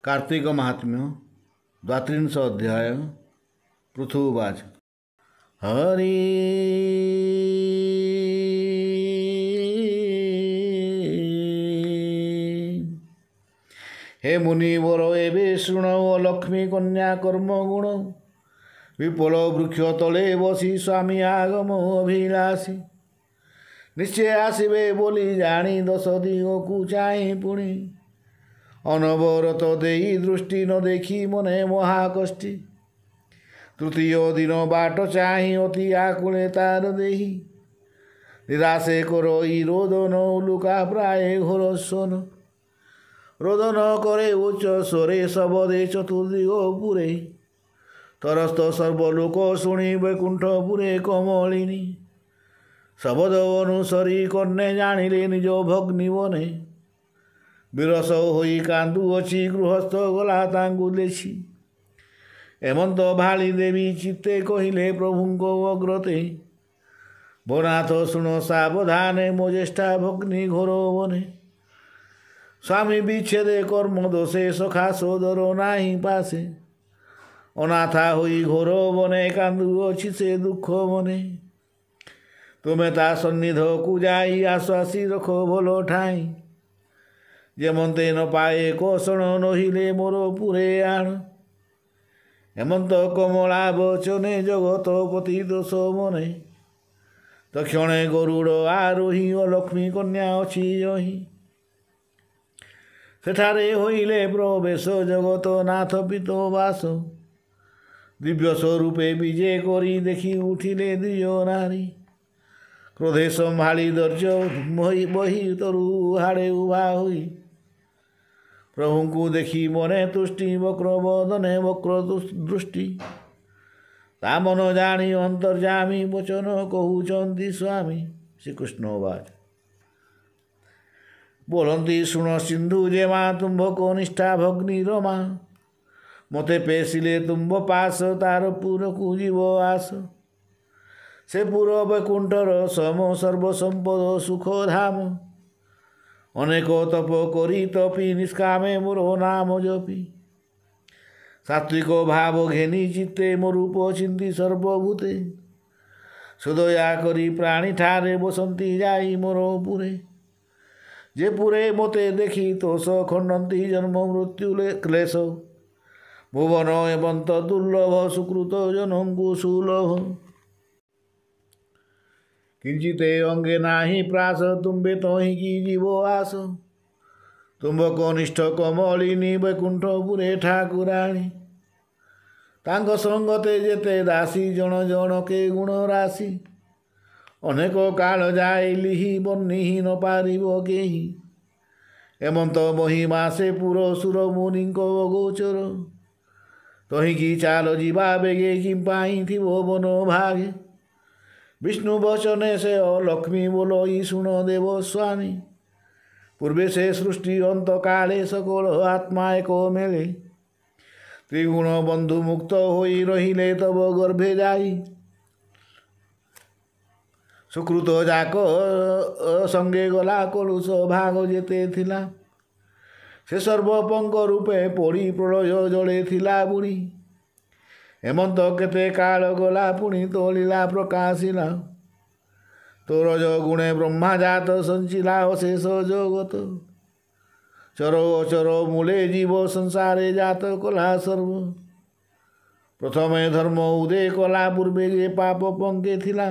କାର୍ତ୍ତିକ ମାହାତ୍ମ୍ୟ ଦ୍ୱାତ୍ରିଂଶ ଅଧ୍ୟାୟ ପୃଥୁବାଚ। ହରି ହେ ମୁନିବର ଏବେ ଶୁଣ ଲକ୍ଷ୍ମୀ କନ୍ୟା କର୍ମ ଗୁଣ। ବିପୁଳ ବୃକ୍ଷ ତଳେ ବସି ସ୍ୱାମୀ ଆଗମ ଅଭିଳାଷୀ। ନିଶ୍ଚୟ ଆସିବେ ବୋଲି ଜାଣି ଦଶ ଦିଗକୁ ଚାହିଁ ପୁଣି ଅନବରତ ଦେଇ ଦୃଷ୍ଟି ନ ଦେଖି ମନେ ମହାକଷ୍ଟି। ତୃତୀୟ ଦିନ ବାଟ ଚାହିଁ ଅତି ଆକୁଳେ ତାର ଦେହି ନିରାଶେ କରଇ ରୋଦନ ଉଲୁକା ପ୍ରାୟ ଘୋର ସ୍ୱନ। ରୋଦନ କରେ ଉଚ୍ଚ ସ୍ୱରେ ଶବଦେ ଚତୁର୍ଦିଗ ପୁରେ। ତରସ୍ତ ସର୍ବଲୋକ ଶୁଣି ବୈକୁଣ୍ଠପୁରେ କମଳିନୀ। ଶବଦ ଅନୁସରି କର୍ଣ୍ଣେ ଜାଣିଲେ ନିଜ ଭଗ୍ନୀ ବନେ। ବିରସ ହୋଇ କାନ୍ଦୁଅଛି ଗୃହସ୍ଥ ଗଲା ତାଙ୍କୁ ଦେଖି। ଏମନ୍ତ ଭାଳି ଦେବୀ ଚିତ୍ତେ କହିଲେ ପ୍ରଭୁଙ୍କ ଅଗ୍ରତେ। ଭୋନାଥ ଶୁଣ ସାବଧାନେ ମୋ ଜ୍ୟେଷ୍ଠା ଭଗ୍ନୀ ଘୋର ବନେ। ସ୍ୱାମୀ ବିଚ୍ଛେଦେ କର୍ମ ଦୋଷେ ସଖା ସୋଦର ନାହିଁ ପାଶେ। ଅନାଥା ହୋଇ ଘୋର ବନେ କାନ୍ଦୁଅଛି ସେ ଦୁଃଖ ମନେ। ତୁମେ ତା ସନ୍ନିଧକୁ ଯାଇ ଆଶ୍ୱାସୀ ରଖ ଭଲ ଠାଇଁ। ଯେମନ୍ତେ ନ ପାଏ କଷଣ ନହିଲେ ମୋର ପୁରେ ଆଣ। ହେମନ୍ତ କମଳା ବଚନେ ଜଗତପତି ଦୋଷ ମନେ। ତକ୍ଷଣେ ଗରୁଡ଼ ଆରୋହୀ ଅଲକ୍ଷ୍ମୀ କନ୍ୟା ଅଛି ଯହିଁ। ସେଠାରେ ହୋଇଲେ ପ୍ରବେଶ ଜଗତ ନାଥ ପିତ ବାସ। ଦିବ୍ୟ ସ୍ୱରୂପେ ବିଜେ କରି ଦେଖି ଉଠିଲେ ଦ୍ୱିଜ ନାରୀ। କ୍ରୋଧେ ସମ୍ଭାଳି ଦର୍ଯ୍ୟ ବହି ତରୁ ହାଡ଼େ ଉଭା ହୋଇ। ପ୍ରଭୁଙ୍କୁ ଦେଖି ମନେ ତୁଷ୍ଟି ବକ୍ର ବଦନେ ବକ୍ର ଦୃଷ୍ଟି। ତା ମନ ଜାଣି ଅନ୍ତର୍ଯାମୀ ବଚନ କହୁଛନ୍ତି ସ୍ୱାମୀ। ଶ୍ରୀକୃଷ୍ଣ ବାଚ। ବୋଲନ୍ତି ଶୁଣ ସିନ୍ଧୁ ଯେ ମା ତୁମ୍ଭ କନିଷ୍ଠା ଭଗ୍ନୀ ରମା। ମୋତେ ପେଶିଲେ ତୁମ୍ଭ ପାଶ ତାର ପୁରକୁ ଯିବ ଆସ। ସେ ପୁର ବୈକୁଣ୍ଠର ସମ ସର୍ବସମ୍ପଦ ସୁଖ ଧାମ। ଅନେକ ତପ କରି ତପି ନିଷ୍କାମେ ମୋର ନାମ ଜପି। ସାତ୍ವಿକ ଭାବ ଘେନି ଚିତ୍ତେ ମୋ ରୂପ ଚିନ୍ତି ସର୍ବଭୂତେ। ସୁଦୟା କରି ପ୍ରାଣୀ ଠାରେ ବସନ୍ତି ଯାଇ ମୋର ପୁରେ। ଯେ ପୁରେ ମୋତେ ଦେଖି ତୋଷ ଖଣ୍ଡନ୍ତି ଜନ୍ମ ମୃତ୍ୟୁ କ୍ଲେଶ। ଭୁବନ ଏମନ୍ତ ଦୁର୍ଲଭ ସୁକୃତ ଜନଙ୍କୁ ସୁଲଭ। କିଞ୍ଚିତେ ଅଙ୍ଗେ ନାହିଁ ପ୍ରାସ ତୁମ୍ଭେ ତହିଁକି ଯିବ ଆସ। ତୁମ୍ଭ କନିଷ୍ଠ କମଳିନୀ ବୈକୁଣ୍ଠପୁରେ ଠାକୁରାଣୀ। ତାଙ୍କ ସଙ୍ଗତେ ଯେତେ ଦାସୀ ଜଣ ଜଣକେ ଗୁଣ ରାଶି। ଅନେକ କାଳ ଯାଏ ଲିହି ବର୍ଣ୍ଣିହି ନ ପାରିବ କେହି। ଏମନ୍ତ ମହିମା ସେ ପୁର ସୁର ମୁନିଙ୍କ ଅଗୋଚର। ତହିଁକି ଚାଲ ଯିବା ବେଗେ କି ପାଇଁ ଥିବ ବନ ଭାଗେ। ବିଷ୍ଣୁ ବଚନେ ସେ ଅଲକ୍ଷ୍ମୀ ବୋଲଇ ଶୁଣ ଦେବ ସ୍ୱାମୀ। ପୂର୍ବେ ସେ ସୃଷ୍ଟି ଅନ୍ତ କାଳେ ସକଳ ଆତ୍ମା ଏକ ମେଳେ। ତ୍ରିଗୁଣ ବନ୍ଧୁ ମୁକ୍ତ ହୋଇ ରହିଲେ ତବ ଗର୍ଭେ ଯାଇ। ସୁକୃତ ଯାକ ସଙ୍ଗେ ଗଲା କଳୁଷ ଭାଗ ଯେତେ ଥିଲା। ସେ ସର୍ବପଙ୍କ ରୂପେ ପଡ଼ି ପ୍ରଳୟ ଜଳେ ଥିଲା ବୁଡ଼ି। ହେମନ୍ତ କେତେ କାଳ ଗଲା ପୁଣି ତୋଳିଲା ପ୍ରକାଶିଲା। ତୋର ଗୁଣେ ବ୍ରହ୍ମା ଜାତ ସଞ୍ଚିଲା ଅଶେଷ ଜଗତ। ଚର ଅଚର ମୂଳେ ଜୀବ ସଂସାରେ ଜାତ କଲା ସର୍ବ। ପ୍ରଥମେ ଧର୍ମ ଉଦୟ କଲା ପୂର୍ବେ ଯେ ପାପ ପଙ୍କେ ଥିଲା।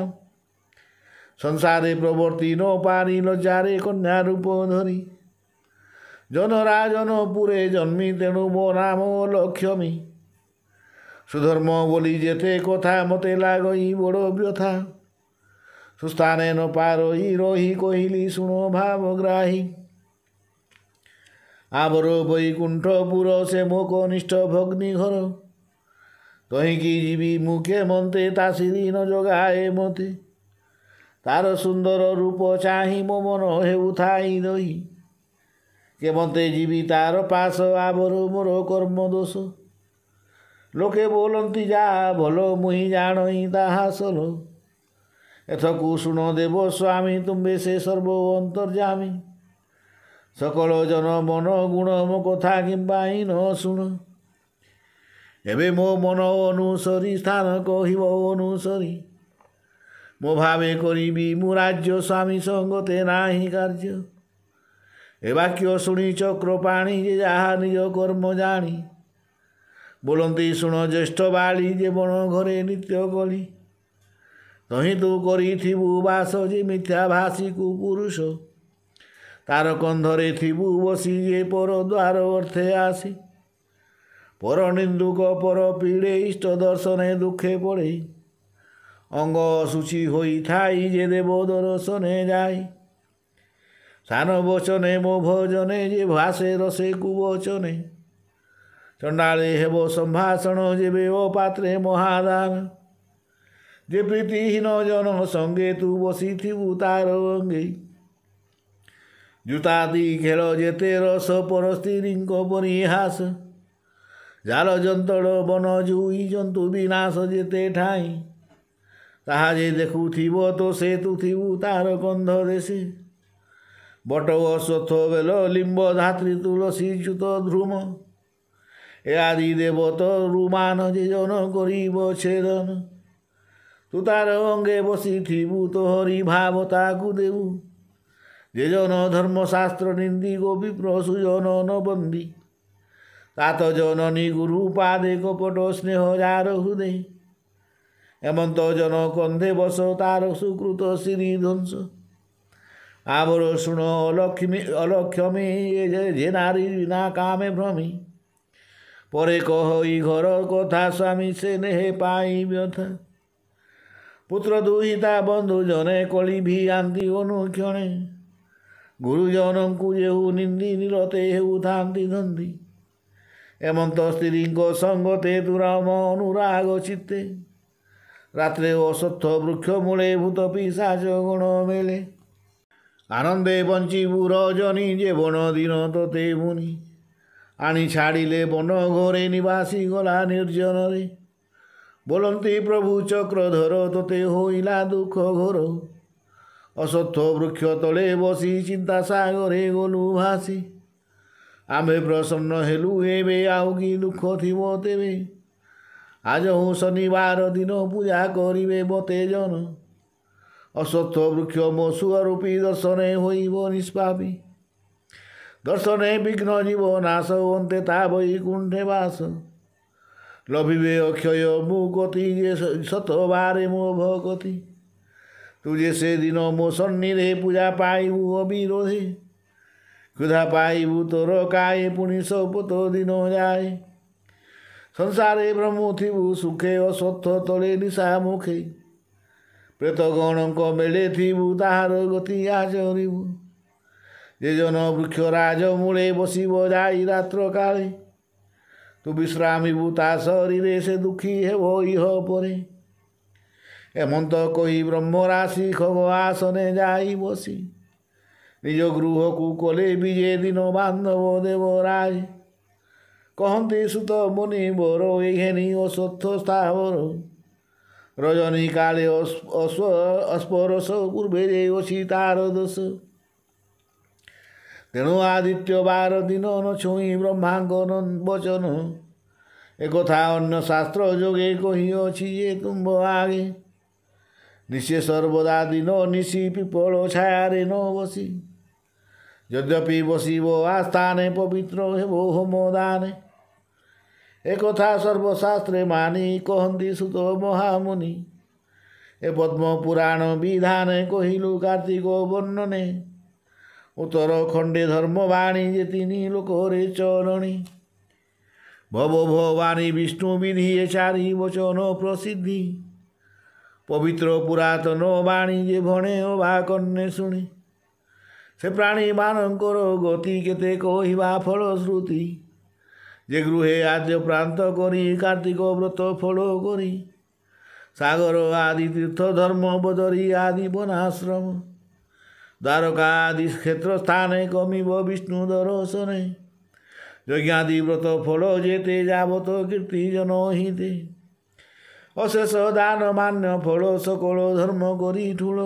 ସଂସାରେ ପ୍ରବର୍ତ୍ତି ନ ପାରି ଲଜ୍ଜାରେ କନ୍ୟା ରୂପ ଧରି। ଜନରାଜନ ପୁରେ ଜନ୍ମି ତେଣୁ ମୋ ନାମ ଲକ୍ଷ୍ମୀ। ସୁଧର୍ମ ବୋଲି ଯେତେ କଥା ମୋତେ ଲାଗଇ ବଡ଼ ବ୍ୟଥା। ସୁସ୍ଥାନେ ନ ପାରଇ ରହି କହିଲି ଶୁଣ ଭାବଗ୍ରାହୀ। ଆବର ବୈକୁଣ୍ଠପୁର ସେ ମୋ କନିଷ୍ଠ ଭଗ୍ନୀ ଘର। ତହିଁକି ଯିବି ମୁଁ କେମନ୍ତେ ତା ଶିରୀ ନ ଜଗାଏ ମୋତେ। ତାର ସୁନ୍ଦର ରୂପ ଚାହିଁ ମୋ ମନ ହେଉଥାଇ ଦହି। କେମନ୍ତେ ଯିବି ତାର ପାଶ ଆବର ମୋର କର୍ମ ଦୋଷ। ଲୋକେ ବୋଲନ୍ତି ଯା ଭଲ ମୁହିଁ ଜାଣଇ ତାହା ସଲ। ଏଥକୁ ଶୁଣ ଦେବ ସ୍ୱାମୀ ତୁମ୍ଭେ ସେ ସର୍ବ ଅନ୍ତର୍ଯାମୀ। ସକଳ ଜନ ମନ ଗୁଣ ମୋ କଥା କିମ୍ବା ନ ଶୁଣ। ଏବେ ମୋ ମନ ଅନୁସରି ସ୍ଥାନ କହିବ ଅନୁସରି। ମୋ ଭାବେ କରିବି ମୁଁ ରାଜ୍ୟ ସ୍ୱାମୀ ସଙ୍ଗତେ ନାହିଁ କାର୍ଯ୍ୟ। ଏ ବାକ୍ୟ ଶୁଣି ଚକ୍ରପାଣି ଯେ ଯାହା ନିଜ କର୍ମ ଜାଣି। ବୋଲନ୍ତି ଶୁଣ ଜ୍ୟେଷ୍ଠ ବାଳି ଯେ ବଣ ଘରେ ନିତ୍ୟ କଳି। ତହିଁ ତୁ କରିଥିବୁ ବାସ ଯେ ମିଥ୍ୟା ଭାଷିକୁ ପୁରୁଷ। ତାର କନ୍ଧରେ ଥିବୁ ବସି ଯେ ପର ଦ୍ୱାର ଅର୍ଥେ ଆସି। ପର ନିନ୍ଦୁକ ପର ପୀଡ଼େ ଇଷ୍ଟ ଦର୍ଶନେ ଦୁଃଖେ ପଡ଼େ। ଅଙ୍ଗ ଅଶୁଚି ହୋଇଥାଇ ଯେ ଦେବ ଦର୍ଶନେ ଯାଇ। ସାନ ବଚନେ ମୋ ଭଜନେ ଯେ ଭାସେ ରସେ କୁବଚନେ। ଚଣ୍ଡାଳେ ହେବ ସମ୍ଭାଷଣ ଯେବେ ଅପାତ୍ରେ ମହାଦାନ। ଯେ ପ୍ରୀତିହୀନ ଜନ ସଙ୍ଗେ ତୁ ବସିଥିବୁ ତାର ଅଙ୍ଗେ। ଜୁତାଦି ଖେଳ ଯେତେ ରସ ପର ସ୍ତ୍ରୀଙ୍କ ପରିହାସ। ଜାଲ ଯନ୍ତଳ ବନ ଜୁଇ ଜନ୍ତୁ ବିନାଶ ଯେତେ ଠାଇଁ। ତାହା ଯେ ଦେଖୁଥିବ ତ ସେ ତୁ ଥିବୁ ତାର କନ୍ଧ ଦେଶେ। ବଟ ଅଶ୍ୱତ୍ଥ ବେଲ ଲିମ୍ବ ଧାତ୍ରୀ ତୁଳସୀ ଚ୍ୟୁତ ଧ୍ରୁମ। ଏ ଆଦି ଦେବତ ରୁମାନ ଯେ ଜନ କରିବ ଛେଦନ। ତୁ ତାର ଅଙ୍ଗେ ବସିଥିବୁ ତ ହରି ଭାବ ତାକୁ ଦେବୁ। ଯେ ଜନ ଧର୍ମଶାସ୍ତ୍ର ନିନ୍ଦି ଗୋପୀ ପ୍ରସୁଜନ ନ ବନ୍ଦୀ। ତାତ ଜନନୀ ଗୁରୁ ପାଦେ କପଟ ସ୍ନେହ ଯାର ହୃଦୟ। ଏମନ୍ତ ଜନ କନ୍ଧେ ବସ ତାର ସୁକୃତ ଶ୍ରୀ ଧ୍ୱଂସ। ଆବର ଶୁଣ ଅଲକ୍ଷ୍ମୀ ଅଲକ୍ଷମୀ ଯେ ନାରୀ ବିନା କାମେ ଭ୍ରମି। ପରେ କହଇ ଘର କଥା ସ୍ୱାମୀ ସେ ନେହେ ପାଇ ବ୍ୟଥା। ପୁତ୍ର ଦୁହିତା ବନ୍ଧୁ ଜନେ କଳି ଭିଆନ୍ତି ଅନୁକ୍ଷଣେ। ଗୁରୁଜନଙ୍କୁ ଯେହୁ ନିନ୍ଦି ନିରତେ ହେଉଥାନ୍ତି ଧନ୍ଦି। ଏମନ୍ତ ସ୍ତ୍ରୀଙ୍କ ସଙ୍ଗତେ ତୁରାମ ଅନୁରାଗ ଚିତ୍ତେ। ରାତ୍ରେ ଅଶ୍ୱତ୍ଥ ବୃକ୍ଷ ମୂଳେ ଭୂତ ପିଶାଚ ଗଣ ମେଳେ। ଆନନ୍ଦେ ବଞ୍ଚିବୁ ରଜନୀ ଯେ ବଣ ଦିନ ତୋତେ ମୁନି। ଆଣି ଛାଡ଼ିଲେ ବନ ଘରେ ନିବାସୀ ଗଲା ନିର୍ଜନରେ। ବୋଲନ୍ତି ପ୍ରଭୁ ଚକ୍ରଧର ତୋତେ ହୋଇଲା ଦୁଃଖ ଘୋର। ଅଶ୍ୱତ୍ଥ ବୃକ୍ଷ ତଳେ ବସି ଚିନ୍ତା ସାଗରେ ଗଲୁ ଭାସି। ଆମ୍ଭେ ପ୍ରସନ୍ନ ହେଲୁ ଏବେ ଆଉ କି ଦୁଃଖ ଥିବ ତେବେ। ଆଜ ହୁଁ ଶନିବାର ଦିନ ପୂଜା କରିବେ ମତେ ଜନ। ଅଶ୍ୱତ୍ଥ ବୃକ୍ଷ ମୋ ସୁଅରୂପୀ ଦର୍ଶନେ ହୋଇବ ନିଷ୍ପାପୀ। ଦର୍ଶନେ ବିଘ୍ନ ଜୀବ ନାଶ ଅନ୍ତେ ତା ବୈକୁଣ୍ଠେ ବାସ। ଲଭିବେ ଅକ୍ଷୟ ମୁକତି ଯେ ଶତବାରେ ମୋ ଭକତି। ତୁ ଯେ ସେଦିନ ମୋ ସନ୍ନିରେ ପୂଜା ପାଇବୁ ଅବିରୋଧେ। କ୍ଷୁଧା ପାଇବୁ ତୋର କାଏ ପୁଣି ଶପଥ ଦିନ ଯାଏ। ସଂସାରେ ଭ୍ରମୁଥିବୁ ସୁଖେ ଅଶ୍ୱତ୍ଥ ତଳେ ନିଶା ମୁଖେ। ପ୍ରେତଗଣଙ୍କ ମେଳେ ଥିବୁ ତାହାର ଗତି ଆଚରିବୁ। ଯେ ଜନ ବୃକ୍ଷ ରାଜ ମୂଳେ ବସିବ ଯାଇ ରାତ୍ର କାଳେ। ତୁ ବିଶ୍ରାମିବୁ ତା ଶରୀରେ ସେ ଦୁଃଖୀ ହେବ ଇହ ପରେ। ଏମନ୍ତ କହି ବ୍ରହ୍ମରାଶି ଖଗ ଆସନେ ଯାଇ ବସି। ନିଜ ଗୃହକୁ କଲେ ବିଜେ ଦିନ ବାନ୍ଧବ ଦେବରାଜ। କହନ୍ତି ସୁତ ମୁନି ବର ଏଘେନି ଅଶ୍ୱତ୍ଥ ସ୍ଥାବର। ରଜନୀ କାଳେ ଅସ୍ପରଶ ପୂର୍ବେ ଯେ ଅଛି ତାର ଦୋଷ। ତେଣୁ ଆଦିତ୍ୟ ବାର ଦିନ ନ ଛୁଇଁ ବ୍ରହ୍ମାଙ୍କ ବଚନ। ଏକଥା ଅନ୍ୟ ଶାସ୍ତ୍ର ଯୋଗେ କହିଅଛି ଯେ ତୁମ୍ଭ ଆଗେ। ନିଶେ ସର୍ବଦା ଦିନ ନିଶି ପିପଳ ଛାୟାରେ ନ ବସି। ଯଦ୍ୟପି ବସିବ ଆସ୍ଥାନେ ପବିତ୍ର ହେବ ହୋମ ଦାନେ। ଏକଥା ସର୍ବଶାସ୍ତ୍ରେ ମାନି କହନ୍ତି ସୁତ ମହାମୁନି। ଏ ପଦ୍ମ ପୁରାଣ ବିଧାନେ କହିଲୁ କାର୍ତ୍ତିକ ବର୍ଣ୍ଣନେ। ଉତ୍ତର ଖଣ୍ଡେ ଧର୍ମବାଣୀ ଯେ ତିନି ଲୋକରେ ଚରଣୀ। ଭବ ଭବାନୀ ବିଷ୍ଣୁ ବିଧି ଏ ଚାରି ବଚନ ପ୍ରସିଦ୍ଧି। ପବିତ୍ର ପୁରାତନ ବାଣୀ ଯେ ଭଣେ ଅବା କର୍ଣ୍ଣେ ଶୁଣି। ସେ ପ୍ରାଣୀମାନଙ୍କର ଗତି କେତେ କହିବା ଫଳଶ୍ରୁତି। ଯେ ଗୃହେ ଆଦ୍ୟ ପ୍ରାନ୍ତ କରି କାର୍ତ୍ତିକ ବ୍ରତ ଫଳ କରି। ସାଗର ଆଦି ତୀର୍ଥ ଧର୍ମ ବଦରୀ ଆଦି ବନାଶ୍ରମ। ଦ୍ୱାରକା ଆଦି କ୍ଷେତ୍ର ସ୍ଥାନେ କମିବ ବିଷ୍ଣୁ ଦର୍ଶନେ। ଯଜ୍ଞାଦି ବ୍ରତ ଫଳ ଯେତେ ଯାବତ କୀର୍ତ୍ତି ଜନ ହିତେ। ଅଶେଷ ଦାନ ମାନ୍ୟ ଫଳ ସକଳ ଧର୍ମ କରି ଠୁଳ।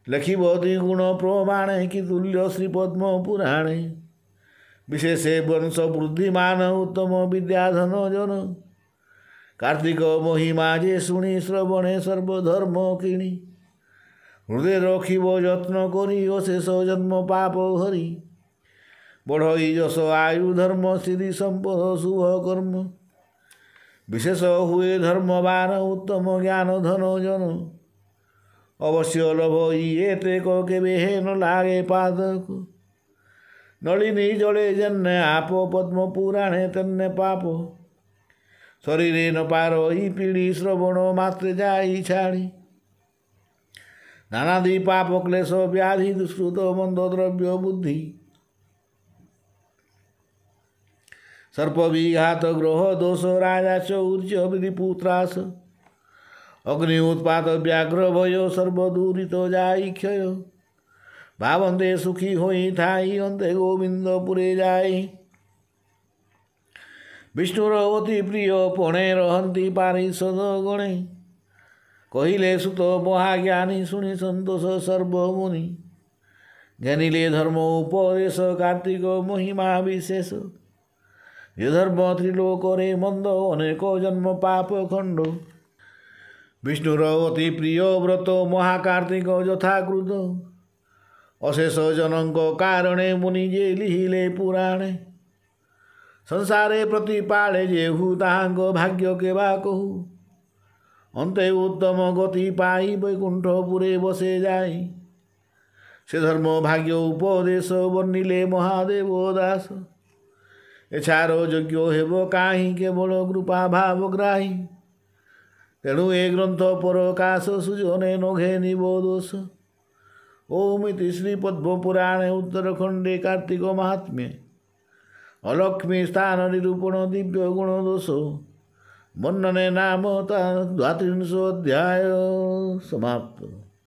ଲେଖିବ ଦ୍ୱିଗୁଣ ପ୍ରମାଣେ କି ତୁଲ୍ୟ ଶ୍ରୀ ପଦ୍ମ ପୁରାଣେ। ବିଶେଷେ ବଂଶ ବୃଦ୍ଧିମାନ ଉତ୍ତମ ବିଦ୍ୟାଧନ ଜନ। କାର୍ତ୍ତିକ ମହିମା ଯେ ଶୁଣି ଶ୍ରବଣେ ସର୍ବଧର୍ମ କିଣି। ହୃଦୟ ରଖିବ ଯତ୍ନ କରି ଅଶେଷ ଜନ୍ମ ପାପ ହରି। ବଢ଼ଇ ଯଶ ଆୟୁ ଧର୍ମ ଶ୍ରୀ ସମ୍ପଦ ଶୁଭ କର୍ମ। ବିଶେଷ ହୁଏ ଧର୍ମବାନ ଉତ୍ତମ ଜ୍ଞାନ ଧନ ଜନ। ଅବଶ୍ୟ ଲଭ ଏତେକ କେବେ ହେନ ଲାଗେ ପାଦକୁ। ନଳିନୀ ଜଳେ ଯେନେ ଆପ ପଦ୍ମ ପୁରାଣେ ତେନେ ପାପ। ଶରୀରେ ନ ପାର ପିଢ଼ି ଶ୍ରବଣ ମାତ୍ରେ ଯାଇ ଛାଡ଼ି। ନାନାଦି ପାପ କ୍ଲେଶ ବ୍ୟାଧି ଦୁଷ୍କୃତ ମନ୍ଦ ଦ୍ରବ୍ୟ ବୁଦ୍ଧି। ସର୍ପ ବିଘାତ ଗ୍ରହ ଦୋଷ ରାଜା ଚୌର୍ଯ୍ୟ ରିପୁତ୍ରାସ। ଅଗ୍ନି ଉତ୍ପାତ ବ୍ୟାଘ୍ର ଭୟ ସର୍ବଦୂରିତ ଯାଇ କ୍ଷୟ। ଭାବନ୍ତେ ସୁଖୀ ହୋଇ ଥାଇ ଅନ୍ତେ ଗୋବିନ୍ଦପୁରେ ଯାଇ। ବିଷ୍ଣୁର ଅତି ପ୍ରିୟ ପଣେ ରହନ୍ତି ପାରିଷଦ ଗଣେ। କହିଲେ ସୁତ ମହାଜ୍ଞାନୀ ଶୁଣି ସନ୍ତୋଷ ସର୍ବମୁନି। ଘେନିଲେ ଧର୍ମ ଉପଦେଶ କାର୍ତ୍ତିକ ମହିମା ବିଶେଷ। ଯେ ଧର୍ମ ତ୍ରିଲୋକରେ ମନ୍ଦ ଅନେକ ଜନ୍ମ ପାପ ଖଣ୍ଡ। ବିଷ୍ଣୁର ଅତି ପ୍ରିୟ ବ୍ରତ ମହାକାର୍ତ୍ତିକ ଯଥାକୃତ। ଅଶେଷ ଜନଙ୍କ କାରଣେ ମୁନି ଯେ ଲିହିଲେ ପୁରାଣେ। ସଂସାରେ ପ୍ରତିପାଳେ ଯେହୁ ତାହାଙ୍କ ଭାଗ୍ୟ କେବା କହୁ। ଅନ୍ତେ ଉତ୍ତମ ଗତି ପାଇ ବୈକୁଣ୍ଠପୁରେ ବସେ ଯାଇ। ସେ ଧର୍ମ ଭାଗ୍ୟ ଉପଦେଶ ବର୍ଣ୍ଣିଲେ ମହାଦେବ ଦାସ। ଏଛାର ଯୋଗ୍ୟ ହେବ କାହିଁ କେବଳ କୃପା ଭାବଗ୍ରାହୀ। ତେଣୁ ଏ ଗ୍ରନ୍ଥ ପରକାଶ ସୁଜନେ ନଘେନିବ ଦୋଷ। ଓମିତି ଶ୍ରୀ ପଦ୍ମପୁରାଣେ ଉତ୍ତରଖଣ୍ଡେ କାର୍ତ୍ତିକ ମାହାତ୍ମ୍ୟେ ଅଲକ୍ଷ୍ମୀ ସ୍ଥାନ ନିରୂପଣ ଦିବ୍ୟ ଗୁଣ ଦୋଷ ବର୍ଣ୍ଣନେ ନାମ ତା ଦ୍ୱାତ୍ରିଂଶ ଅଧ୍ୟାୟ ସମାପ୍ତ।